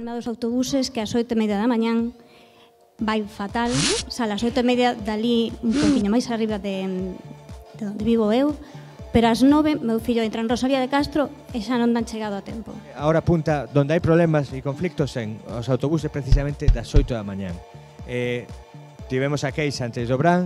problema dos autobuses que ás 8:30 da mañán vai fatal, sale ás 8:30 dali un poquinho máis arriba de onde vivo eu, pero ás 9 meu fillo entra en Rosalía de Castro e xa non dan chegado a tempo. A hora punta donde hai problemas e conflictos en os autobuses precisamente das 8 da mañán. Tivemos a queixa antes do Bran,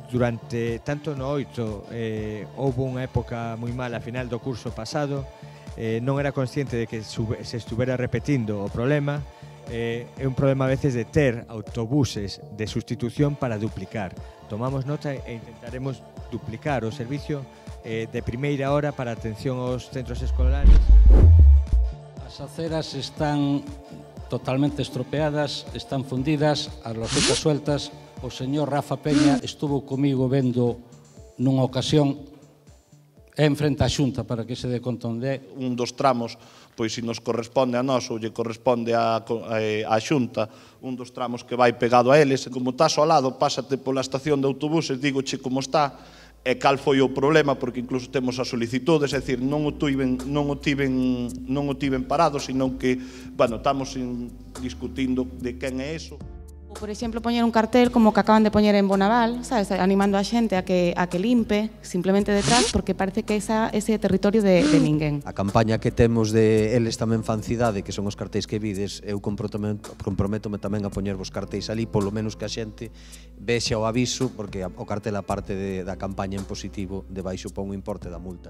durante tanto no 8 houve unha época moi mala a final do curso pasado, non era consciente de que se estuvera repetindo o problema. É un problema a veces de ter autobuses de sustitución para duplicar. Tomamos nota e intentaremos duplicar o servicio de primeira hora para atención aos centros escolares. As aceras están totalmente estropeadas, están fundidas, as losetas sueltas. O señor Rafa Peña estuvo comigo vendo nunha ocasión en frente á Xunta para que se dé conta onde é. Un dos tramos, pois se nos corresponde a nós ou lle corresponde á Xunta, un dos tramos que vai pegado a eles, como estás ao lado, pásate pola estación de autobuses, dígoche como está, e cal foi o problema, porque incluso temos as solicitudes, é dicir, non o tiven parado, senón que, bueno, estamos discutindo de quen é eso. Por exemplo, poñer un cartel como que acaban de poñer en Bonaval, sabes, animando a xente a que limpe simplemente detrás, porque parece que ese territorio de ninguén. A campaña que temos de Eles tamén fan cidade, que son os cartéis que vides, eu comprométome tamén a poñervos cartéis ali, polo menos que a xente vexa o aviso, porque o cartel a parte da campaña en positivo debaixo pon o importe da multa.